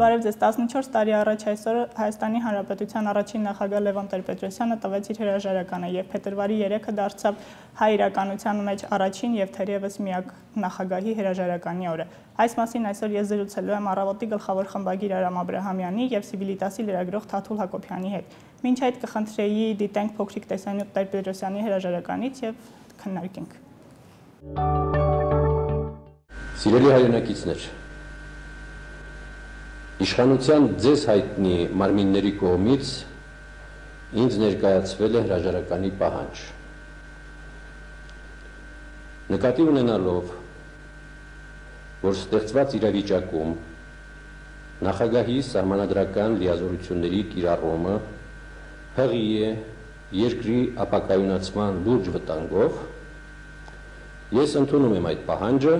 բարև ձեզ, 14 տարի առաջ այսօր Հայաստանի Հանրապետության առաջին նախագահ Լևոն Տեր-Պետրոսյանը տվեց իր հրաժարականը եւ փետրվարի 3-ը դարձավ հայ իրականության մեջ առաջին եւ թերևս միակ նախագահի հրաժարականի օրը։ Այս մասին այսօր ես զրուցելու եմ Առավոտի գլխավոր խմբագիր Արամ Աբրահամյանի եւ Սիվիլիտասի լրագրող Թաթուլ Հակոբյանի հետ։ Մինչ այդ կխնդրեի դիտենք փոքրիկ տեսանյութ Տեր-Պետրոսյանի հրաժարականից եւ քննարկենք։ Սիրելի հայրենակիցներ, իշխանության ձեզ հայտնի մարմինների կողմից ինձ ներկայացվել է հրաժարականի պահանջ։ Նկատի ունենալով, որ ստեղծված իրավիճակում նախագահի սահմանադրական լիազորությունների կիրառումը հղի է երկրի ապակայունացման լուրջ վտանգով, ես ընդունում եմ այդ պահանջը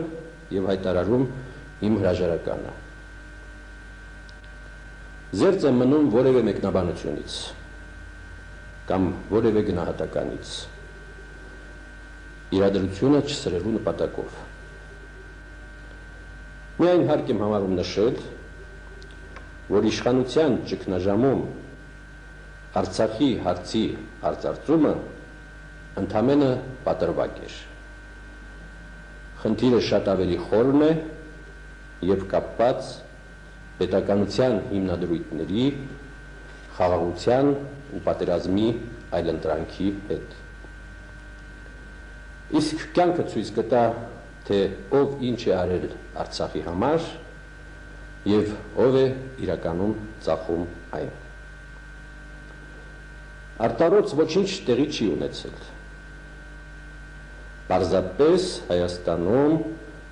եւ հայտարարում իմ հրաժարականը։ Զերծ եմ մնում որևէ մեկնաբանությունից կամ որևէ գնահատականից, իրադրությունը չսրելու նպատակով։ Միայն հարկ եմ համարում նշել, որ իշխանության ճգնաժամում Արցախի հարցի արծարծումը ընդամենը պատրվակ էր։ Խնդիրը շատ ավելի խորն է եւ կապված պետականության հիմնադրույթների, խաղաղության ու պատերազմի այլընտրանքի հետ։ Իսկ կյանքը ցույց կտա, թե ով ինչ է արել Արցախի համար եւ ով է իրականում ծախում այն։ Արտարոց ոչինչ տեղի չի ունեցել։ Պարզապես Հայաստանում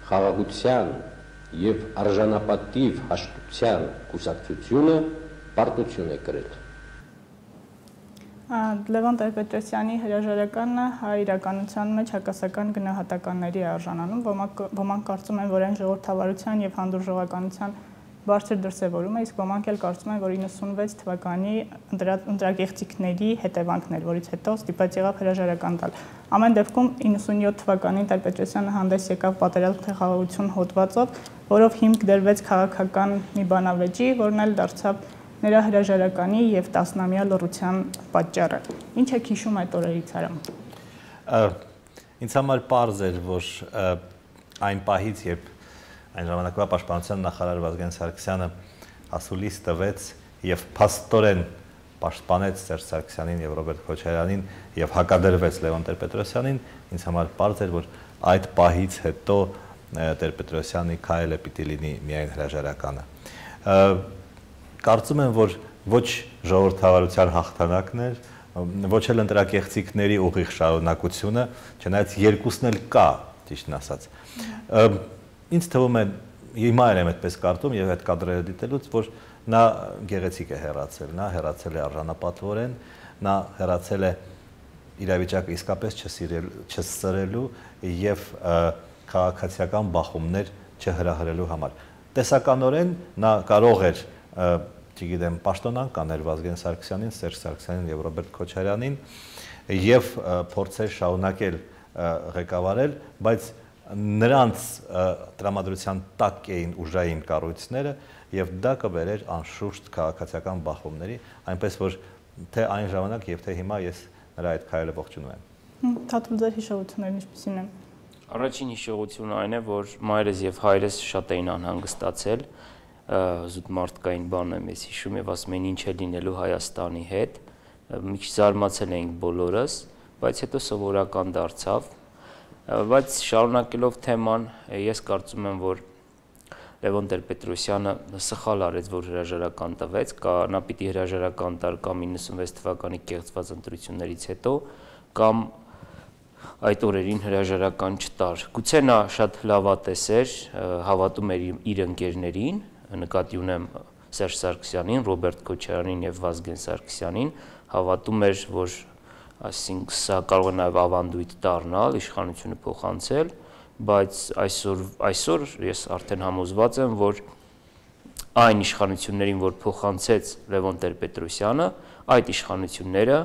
խաղաղության եւ արժանապատիվ հաշտության կուսակցությունը պարտություն է կրել։ Լևոն Տեր-Պետրոսյանի հրաժարականը հայ իրականության մեջ հակասական գնահատականների է արժանանում, ոմանք կարծում են, որ այն ժողովրդավարության եւ հանդուրժողականության բարձր դրսևորում է, իսկ ոմանք էլ կարծում են, որ 96 թվականի ընտրակեղծիքների հետևանքն էր, որից հետո ստիպված եղավ հրաժարական տալ։ Ամեն դեպքում 97 թվականին Տեր-Պետրոսյանը հանդես եկավ պատերազմ թե խաղաղություն հոդվածով, որով հիմք դրվեց քաղաքական մի բանավեճի, որն էլ դարձավ նրա հրաժարականի եւ 10-ամյա լռության պատճառը։ Ինչ է հիշում այդ օրերից Արամ։ Ինձ համար պարզ էր, որ այն պահից, երբ այն ժամանակվա պաշտպանության նախարար Վազգեն Սարգսյանը ասուլիս տվեց եւ փաստորեն պաշտպանեց Սերժ Սարգսյանին եւ Ռոբերտ Քոչարյանին եւ հակադրվեց Լևոն Տեր-Պետրոսյանին, ինձ համար պարզ էր, որ այդ պահից հետո Տեր-Պետրոսյանի քայլը պիտի լինի միայն հրաժարականը։ Կարծում եմ, որ ոչ ժողովրդավարության հաղթանակն էր, ոչ էլ ընտրակեղծիքների ուղիղ շարունակությունը, չնայած երկուսն էլ կա, ճիշտն ասած։ Ինձ թվում է, հիմա եմ այդպես կարծում եւ այդ կադրերը դիտելուց, որ նա գեղեցիկ է հեռացել, նա հեռացել է արժանապատվորեն, նա հեռացել է իրավիճակը իսկապես չսրելու եւ քաղաքացիական բախումներ չհրահրելու համար։ Տեսականորեն նա կարող էր, չգիտեմ, պաշտոնանկ անել Վազգեն Սարգսյանին, Սերժ Սարգսյանին եւ Ռոբերտ Քոչարյանին եւ փորձեր շարունակել ղեկավարել, բայց նրանց տրամադրության տակ էին ուժային կառույցները եւ դա կբերեր անշուշտ քաղաքացիական բախումների, այնպես որ թե այն ժամանակ եւ թե հիմա ես նրա այդ քայլը ողջունում եմ։ Թաթուլ, ձեր հիշողություններն ինչպիսին են։ Առաջին հիշողությունը այն է, որ մայրս եւ հայրս շատ էին անհանգստացել, զուտ մարդկային բան եմ ես հիշում եւ ասում էին ինչ է լինելու Հայաստանի հետ, մի քիչ զարմացել էինք բոլորս, բայց հետո սովորական դարձավ, բայց շարունակելով թեման, ես կարծում եմ, որ Լևոն Տեր-Պետրոսյանը սխալ արեց, որ հրաժարական տվեց, նա պիտի հրաժարական տար կամ 96 թվականի կեղծված ընտրություններից հետո, կամ այդ օրերին հրաժարական չտար։ Գուցե նա շատ լավատես էր, հավատում էր իր ընկերներին, նկատի ունեմ Սերժ Սարգսյանին, Ռոբերտ Քոչարյանին եւ Վազգեն Սարգսյանին, հավատում էր, որ այսինքն սա կարող է նաեւ ավանդույթ դառնալ, իշխանությունը փոխանցել, բայց այսօր ես արդեն համոզված եմ, որ այն իշխանություններին, որ փոխանցեց Լևոն Տեր-Պետրոսյանը, այդ իշխանությունները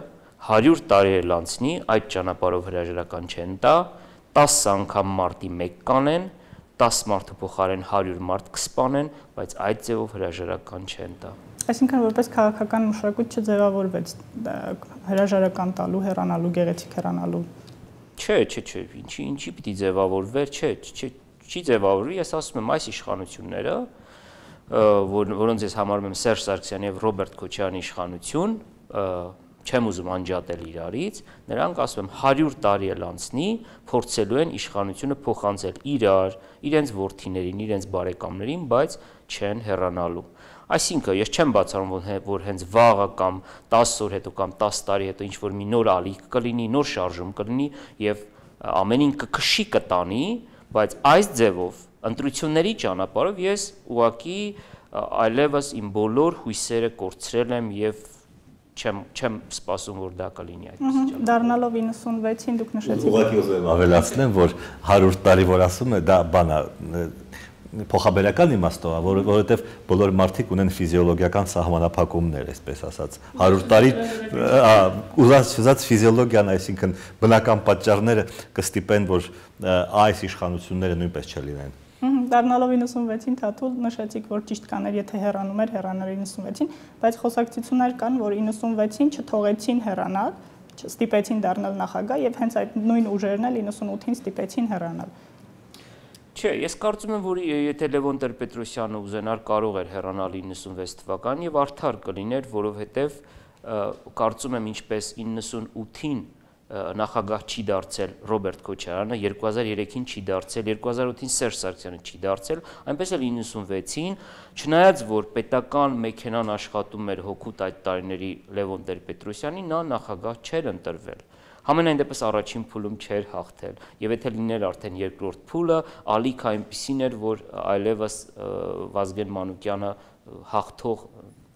100 տարի էլ անցնի, այդ ճանապարհով հրաժարական չեն տա, 10 անգամ մարտի 1 կանեն, 10 մարդու փոխարեն 100 մարդ կսպանեն, բայց այդ ձևով հրաժարական չեն տա։ Այսինքն որպես քաղաքական մշակույթ չձևավորվեց հրաժարական տալու, հեռանալու, գեղեցիկ հեռանալու։ Չէ, ինչի պիտի ձևավորվեր, չի ձևավորվի, ես ասում եմ այս իշխանությունները, որոնց ես համարում եմ Սերժ Սարգսյանի եւ Ռոբերտ Քոչարյանի իշխանություն, չեմ ուզում անջատել իրարից, նրանք ասում եմ 100 տարի էլ անցնի, փորձելու են իշխանությունը փոխանցել իրենց որդիներին, իրենց բարեկամներին, բայց չեն հեռանալու։ Այսինքն ես չեմ բացառում, որ հենց վաղը կամ 10 օր հետո կամ 10 տարի հետո ինչ որ մի նոր ալիք կլինի, նոր շարժում կլինի եւ ամենին կքշի կտանի, բայց այս ձևով ընտրությունների ճանապարհով ես ուղղակի այլևս իմ բոլոր հույսերը կորցրել եմ եւ չեմ սպասում, որ դա կլինի այդպես։ Դառնալով 96-ին դուք նշեցիք։ Ուղղակի ուզում եմ ավելացնեմ, որ 100 տարի որ ասում է, դա բան է փոխաբերական իմաստով, որովհետև բոլոր մարդիկ ունեն ֆիզիոլոգիական սահմանափակումներ, այսպես ասած։ 100 տարի ուզած ֆիզիոլոգիան, այսինքն բնական պատճառները կստիպեն, որ այս իշխանությունները նույնպես չլինեն։ Դառնալով 96-ին Թաթուլ նշեցիք, որ ճիշտ կաներ, եթե հեռանում էր 96-ին, բայց խոսակցություններ կան, որ 96-ին չթողեցին հեռանալ, ստիպեցին դառնալ նախագահ եւ հենց այդ նույն ուժերն էլ 98-ին ստիպեցին հեռանալ։ Չէ, ես կարծում եմ, որ եթե Լևոն Տեր-Պետրոսյանը ուզենար, կարող էր հեռանալ 96 թվականին եւ արդար կլիներ, որովհետեւ կարծում եմ ինչպես 98-ին նախագահ չի դարձել Ռոբերտ Քոչարյանը, 2003-ին չի դարձել, 2008-ին Սերժ Սարգսյանը չի դարձել, այնպես էլ 96-ին, չնայած որ պետական մեքենան աշխատում էր հօգուտ այդ տարիների Լևոն Տեր-Պետրոսյանի, նա նախագահ չէր ընտրվել։ Համենայն դեպս առաջին փուլում չէր հաղթել, եւ եթե լիներ արդեն երկրորդ փուլը, ալիքը այնպիսին էր, որ այլևս Վազգեն Մանուկյանը հաղթող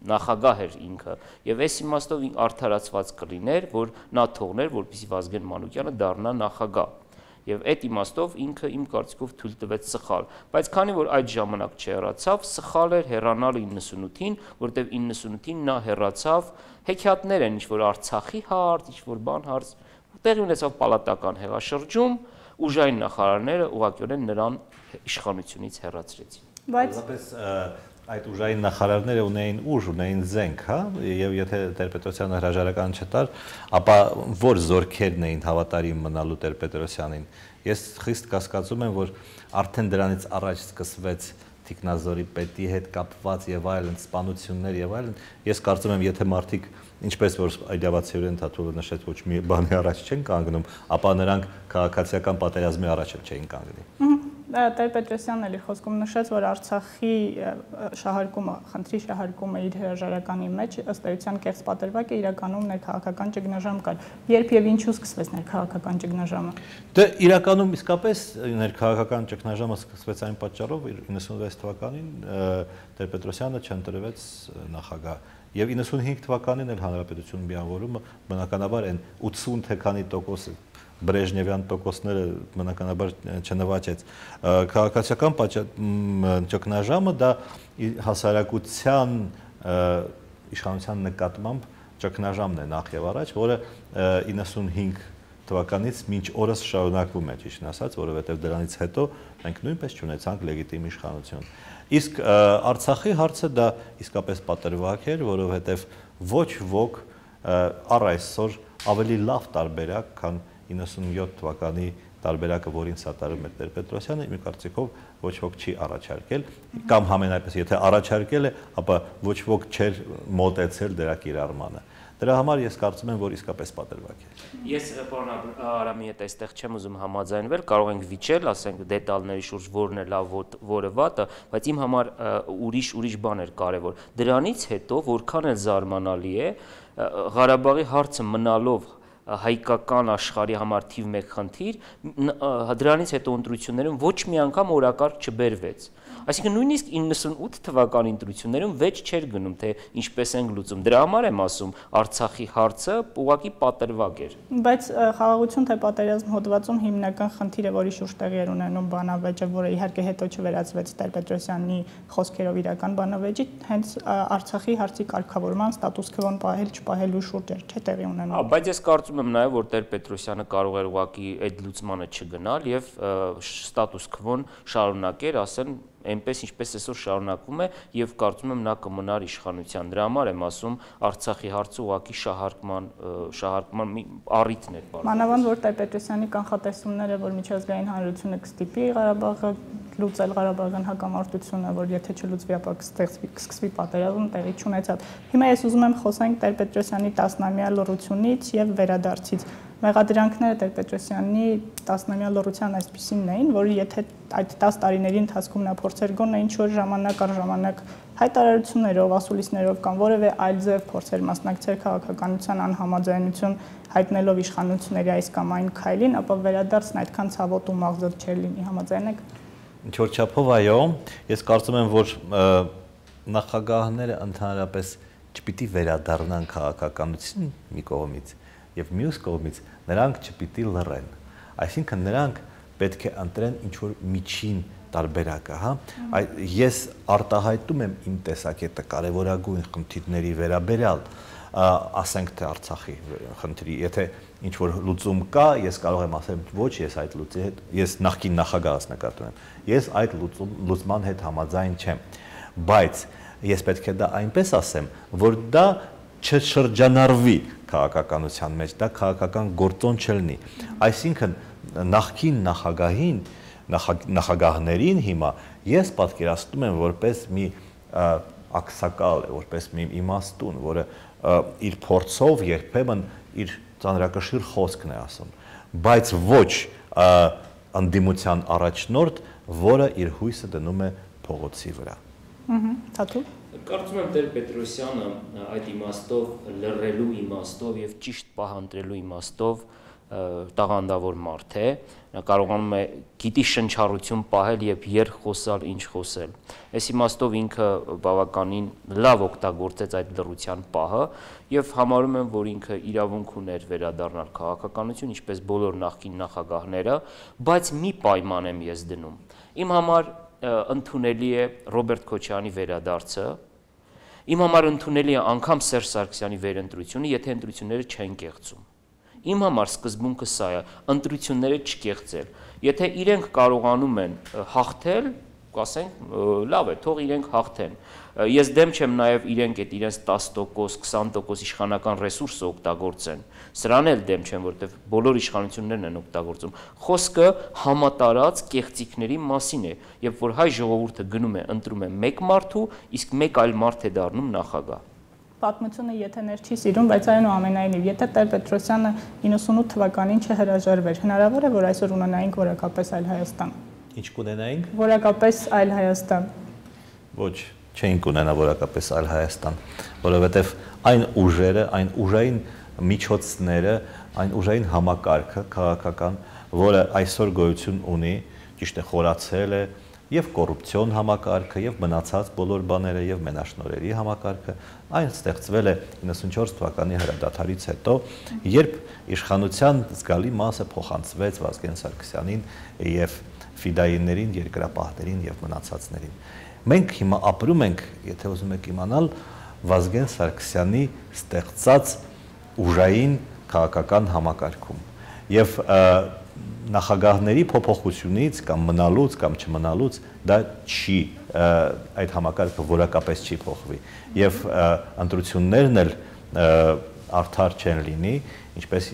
նախագահ էր ինքը, եւ այս իմաստով արդարացված կլիներ, որ նա թողներ, որպեսզի Վազգեն Մանուկյանը դառնա նախագահ։ Եվ այդ իմաստով ինքը իմ կարծիքով թույլ տվեց սխալ, բայց քանի որ այդ ժամանակ չհեռացավ, սխալ էր հեռանալ 98-ին, որտեվ 98-ին նա հեռացավ, հեքիաթներ են, ինչ որ Արցախի հարց, ինչ որ բան հարց, տեղի ունեցավ պալատական հեղաշրջում, ուժային նախարարները ուղղակիորեն նրան իշխանությունից հեռացրեցին։ Բայց այդ ուժային նախարարները ունեին ուժ, ունեին զենք, հա, եւ եթե Տեր-Պետրոսյանը հրաժարական չտար, ապա որ զորքերն էին հավատարիմ մնալու Տեր-Պետրոսյանին։ Ես խիստ կասկածում եմ, որ արդեն դրանից առաջ սկսվեց Տիկնազորի պետի հետ կապված եւ այլն սպանություններ եւ այլն։ Ես կարծում եմ, եթե մարդիկ ինչպես որ այդավացիորեն Թաթուլը նշեց, ոչ մի բանի առաջ չեն կանգնում, ապա նրանք քաղաքացիական պատերազմի առաջ էլ չէին կանգնի։ Տեր-Պետրոսյանն էլի խոսքում նշեց, որ Արցախի շահարկումը, խնդրի շահարկումը իր հրաժարականի մեջ ըստ էության կեղծ պատրվակ է, իրականում ներքաղաքական ճգնաժամ կար։ Երբ եւ ինչու սկսվեց ներքաղաքական ճգնաժամը։ Դե իրականում իսկապես ներքաղաքական ճգնաժամը սկսվեց այն պատճառով, 96 թվականին Տեր-Պետրոսյանը չընտրվեց նախագահ։ Եվ 95 թվականին էլ հանրապետություն միավորումը բնականաբար այն 80 թե քանի տոկոս Բրեժնևյան տոկոսները բնականաբար չնվաճեց։ Քաղաքացիական ճգնաժամը դա հասարակության իշխանության նկատմամբ ճգնաժամն է նախ եւ առաջ, որը 95 թվականից մինչ օրս շարունակվում է, ճիշտ ասած, որովհետեւ դրանից հետո մենք նույնպես չունեցանք լեգիտիմ իշխանություն։ Իսկ Արցախի հարցը դա իսկապես պատրվակ էր, որովհետև ոչ ոք առ այսօր ավելի լավ տարբերակ, քան 97 թվականի տարբերակը, որին սատարում էր Տեր-Պետրոսյանը, իմ կարծիքով ոչ ոք չի առաջարկել, կամ համենայնպես եթե առաջարկել է, ապա ոչ ոք չէր մոտեցել դրա կիրառմանը։ Դրա համար ես կարծում եմ, որ իսկապես պատրվակ է։ Ես պարոն Արամի հետ այստեղ չեմ ուզում համաձայնվել, կարող ենք վիճել, ասենք դետալների շուրջ որն է լավ, որը վատը, բայց իմ համար ուրիշ բան էր կարևոր։ Դրանից հետո որքան էլ զարմանալի է, Ղարաբաղի հարցը մնալով հայկական աշխարհի համար թիվ 1 խնդիր, դրանից հետո ընտրություններում ոչ մի անգամ օրակարգ չբերվեց։ Այսինքն նույնիսկ 98 թվականի ընտրություններում վեճ չէր գնում, թե ինչպես են լուծում։ Դրա համար եմ ասում, Արցախի հարցը ուղղակի պատրվակ էր։ Բայց խաղաղություն թե պատերազմ հոդվածում հիմնական խնդիրը, որի շուրջ տեղի էր ունենում բանավեճը, որը իհարկե հետո չվերածվեց Տեր-Պետրոսյանի խոսքերով իրական բանավեճի, հենց Արցախի հարցի կարգավորման ստատուս քվոն պահել չպահելու շուրջ էր, չէ՞ տեղի ունենում։ Բայց ես կարծում կարծում եմ նաև, որ Տեր-Պետրոսյանը կարող էր ուղղակի այդ լուծմանը չգնալ եւ ստատուս քվոն շարունակեր, ասեն այնպես ինչպես այսօր շարունակվում է եւ կարծում եմ նա կմնար իշխանության։ Դրա համար եմ ասում Արցախի հարցը ուղղակի շահարկման մի առիթն է բարձր։ Մանավանդ որ Տեր-Պետրոսյանի կանխատեսումները, որ միջազգային հանրությունը կստիպի Ղարաբաղը լուծել Ղարաբաղյան հակամարտությունը, որ եթե չլուծվի, ապա կսկսվի պատերազմ, տեղի չունեցավ։ Հիմա ես ուզում եմ խոսենք Տեր-Պետրոսյանի 10-ամյա լռությունից եւ վերադարձից։ Մեղադրանքները Տեր-Պետրոսյանի 10-ամյա լռության այսպիսին էին, որ եթե այդ 10 տարիների ընթացքում նա փորձեր գոնե ինչ որ ժամանակ առ ժամանակ հայտարարություններով, ասուլիսներով կամ որևէ այլ ձև փորձեր մասնակցել քաղաքականության անհամաձայնություն հայտնելով իշխանությունների այս կամ այն քայլին, ապա վերադարձն այդքան ցավոտ ու մաղձոտ չէր լինի, համաձայն եք։ Ինչ որ չափով այո, ես կարծում եմ, որ նախագահները ընդհանրապես չպիտի վերադառնան քաղաքականություն մի կողմից եւ մյուս կողմից նրանք չպիտի լռեն։ Այսինքն նրանք պետք է ընտրեն ինչ որ միջին տարբերակը, հա։ Ես արտահայտում եմ իմ տեսակետը կարևորագույն խնդիրների վերաբերյալ, ասենք թե Արցախի խնդրի, եթե ինչ որ լուծում կա, ես կարող եմ ասել ոչ, ես այդ լուծի հետ, ես նախկին նախագահս նկատում եմ, ես այդ լուծման հետ համաձայն չեմ, բայց ես պետք է դա այնպես ասեմ, որ դա չշրջանառվի քաղաքականության մեջ, դա քաղաքական գործոն չլինի, այսինքն նախկին նախագահին, նախագահներին հիմա ես պատկերացնում եմ որպես մի ակսակալ, որպես մի իմաստուն, որը իր փորձով երբեմն իր ծանրակշիռ խոսքն է ասում, բայց ոչ ընդդիմության առաջնորդ, որը իր հույսը դնում է փողոցի վրա։ Թաթու։ Կարծում եմ Տեր-Պետրոսյանը այդ իմաստով լռելու իմաստով եւ ճիշտ պահանջելու իմաստով տաղանդավոր մարդ է, նա կարողանում է գիտի շնչառություն պահել եւ երբ խոսալ, ինչ խոսել։ Այս իմաստով ինքը բավականին լավ օգտագործեց այդ լռության պահը եւ համարում եմ, որ ինքը իրավունք ուներ վերադառնալ քաղաքականություն, ինչպես բոլոր նախկին նախագահները, բայց մի պայման եմ ես դնում։ Իմ համար ընդունելի է Ռոբերտ Քոչարյանի վերադարձը, իմ համար ընդունելի է անգամ Սերժ Սարգսյանի վերընտրությունը, եթե ընտրությունները չեն կեղծում։ Իմ համար սկզբունքը սա է, ընտրությունները չկեղծել։ Եթե իրենք կարողանում են հաղթել, կասենք, լավ է, թող իրենք հաղթեն։ Ես դեմ չեմ նաև իրենք այդ իրենց 10%, 20% իշխանական ռեսուրսը օգտագործեն։ Սրան էլ դեմ չեմ, որովհետև բոլոր իշխանություններն են օգտագործում։ Խոսքը համատարած կեղծիքների մասին է, երբ որ հայ ժողովուրդը գնում է, ընտրում է մեկ մարդու, իսկ մեկ այլ մարդ է դառնում նախագահ։ Պատմությունը եթեներ չի սիրում, բայց այնուամենայնիվ, եթե Տեր-Պետրոսյանը 98 թվականին չհրաժարվեր, հնարավոր է, որ այսօր ունենայինք որակապես այլ Հայաստան։ Ինչ կունենայինք։ Որակապես այլ Հայաստան։ Ոչ, չէինք ունենա որակապես այլ Հայաստան, որովհետև այն ուժերը, այն ուժային միջոցները, այն ուժային համակարգը քաղաքական, որը այսօր գոյություն ունի, ճիշտ է խորացել է եւ կոռուպցիոն համակարգը եւ մնացած բոլոր բաները եւ մենաշնորհերի համակարգը այն ստեղծվել է 94 թվականի հրադադարից հետո, երբ իշխանության զգալի մասը փոխանցվեց Վազգեն Սարգսյանին եւ ֆիդայիներին, երկրապահներին եւ մնացածներին։ Մենք հիմա ապրում ենք, եթե ուզում եք իմանալ, Վազգեն Սարգսյանի ստեղծած ուժային քաղաքական համակարգում եւ նախագահների փոփոխությունից կամ մնալուց կամ չմնալուց դա չի այդ համակարգը որակապես չի փոխվի եւ ընտրություններն էլ արդար չեն լինի, ինչպես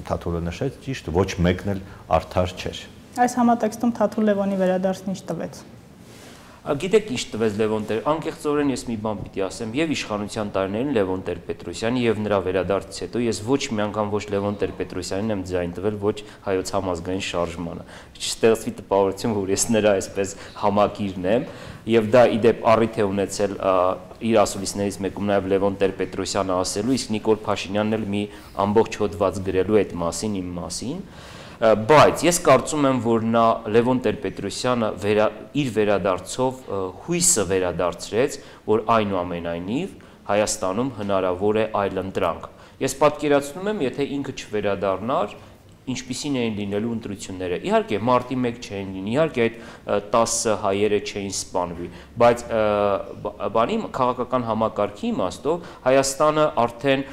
Թաթուլը նշեց, ճիշտ ոչ մեկն էլ արդար չէր։ Այս համատեքստում Թաթուլ Լևոնի վերադարձն ինչ տվեց։ Գիտեք ինչ տվեց Լևոն Տեր, անկեղծորեն ես մի բան պիտի ասեմ, եւ իշխանության տարիներին Լևոն Տեր-Պետրոսյանի եւ նրա վերադարձից հետո ես ոչ մի անգամ ոչ Լևոն Տեր-Պետրոսյանին եմ ձայն տվել, ոչ հայոց համազգային շարժմանը։ Չստեղծվի տպավորություն, որ ես նրա այսպես համակիրն եմ, եւ դա իդեպ առիթ է ունեցել իր ասուլիսներից մեկում նաեւ Լևոն Տեր-Պետրոսյանը ասելու, իսկ Նիկոլ Փաշինյանն էլ մի ամբողջ հոդված գրելու այդ մասին իմ մասին։ Բայց ես կարծում եմ, որ նա Լևոն Տեր-Պետրոսյանը իր վերադարձով հույսը վերադարձրեց, որ այնուամենայնիվ Հայաստանում հնարավոր է այլ ընտրանք։ Ես պատկերացնում եմ, եթե ինքը չվերադառնար, ինչպիսին էին լինելու ընտրությունները։ Իհարկե մարտի 1 չէին լինի, իհարկե այդ 10 հայերը չէին սպանվի, բայց բանի քաղաքական համակարգի իմաստով Հայաստանը արդեն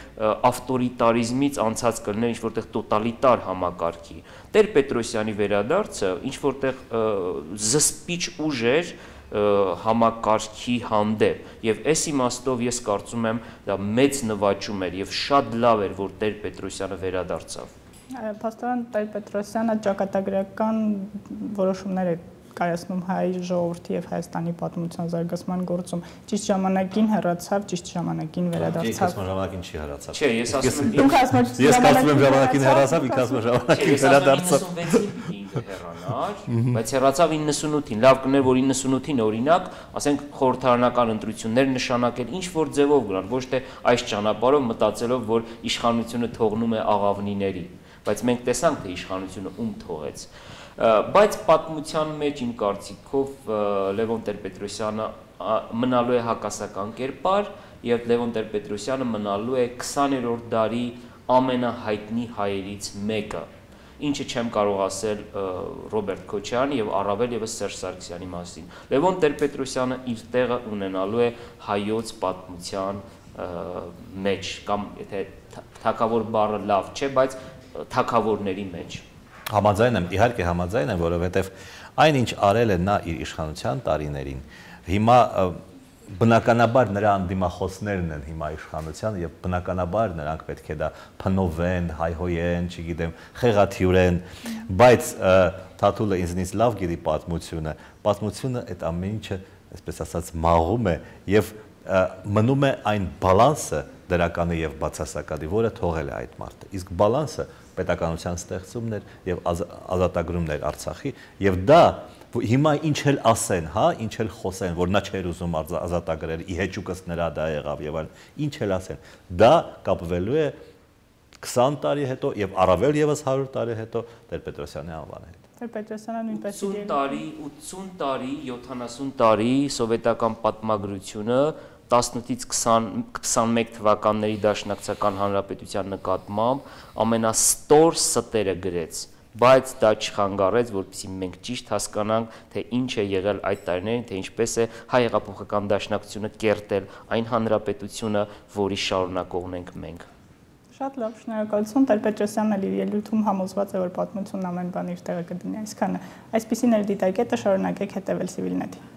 ավտորիտարիզմից անցած կլներ ինչ-որտեղ տոտալիտար համակարգի։ Տեր-Պետրոսյանի վերադարձը ինչ-որտեղ զսպիչ ուժ էր համակարգի հանդեպ եւ այս իմաստով ես կարծում եմ դա մեծ նվաճում էր եւ շատ լավ էր որ Տեր-Պետրոսյանը վերադարձավ։ Պաստորան Տեր-Պետրոսյանը ճակատագրական որոշումներ է կայացնում հայ ժողովրդի եւ Հայաստանի պատմության զարգացման գործում ճիշտ ժամանակին հեռացավ, ճիշտ ժամանակին վերադարձավ։ Ես ժամանակին չի հեռացավ։ Չէ, ես ասում եմ դուք ասում եք ես կարծում եմ ժամանակին հեռացավ, ինքը ասում է ժամանակին վերադարձավ։ 96-ին հեռանար, բայց հեռացավ 98-ին։ Լավ կներ որ 98-ին օրինակ, ասենք խորհրդարանական ընտրություններ նշանակել ինչ որ ձևով գնալ, ոչ թե այս ճանապարհով մտածելով որ իշխանությունը թողնում է աղավնիների, բայց մենք տեսանք թե իշխանությունը ում թողեց։ Բայց պատմության մեջ իմ կարծիքով Լևոն Տեր-Պետրոսյանը մնալու է հակասական կերպար եւ Լևոն Տեր-Պետրոսյանը մնալու է 20-րդ դարի ամենահայտնի հայերից մեկը, ինչը չեմ կարող ասել Ռոբերտ Քոչարյանի եւ առավել եւս Սերժ Սարգսյանի մասին։ Լևոն Տեր-Պետրոսյանը իր տեղը ունենալու է հայոց պատմության մեջ կամ եթե թագավոր բառը լավ չէ, բայց թագավորների մեջ։ Համաձայն եմ, իհարկե համաձայն եմ, որովհետև այնինչ արել է նա իր իշխանության տարիներին, հիմա բնականաբար նրա անդիմախոսներն են հիմա իշխանության եւ բնականաբար նրանք պետք է դա փնովեն, հայհոյեն, չգիտեմ, խեղաթյուրեն, բայց Թաթուլը ինձնից լավ գիտի պատմությունը այդ ամեն ինչը, այսպես ասած, մաղում է եւ մնում է այն բալանսը դրականի եւ բացասականի, որը թողել է այդ մարդը։ Իսկ բալանսը պետականության ստեղծումն էր եւ ազատագրումներ Արցախի եւ դա հիմա ինչ էլ ասեն, հա, ինչ էլ խոսեն, որ նա չէր ուզում ազատագրել, ի հեճուկս նրա դա եղավ եւ այլն, ինչ էլ ասեն, դա կապվելու է 20 տարի հետո եւ առավել եւս 100 տարի հետո Տեր-Պետրոսյանի անվանի հետ։ Տեր-Պետրոսյանը նույնպես 80 տարի, 70 տարի սովետական պատմագրությունը 18-ից 21 թվականների Դաշնակցական Հանրապետության նկատմամբ ամենաստոր ստերը գրեց, բայց դա չխանգարեց, որպեսզի մենք ճիշտ հասկանանք, թե ինչ է եղել այդ տարիներին, թե ինչպես է հայ հեղափոխական դաշնակցությունը կերտել այն հանրապետությունը, որի շարունակողն ենք մենք։ Շատ լավ, շնորհակալություն։ Տեր-Պետրոսյանն էլ իր ելույթում համոզված է, որ պատմությունն ամեն բան իր տեղը կդնի, այսքանը։ Այսպիսին էր դիտարկետը, շարունակեք հետևել Civilnet-ին։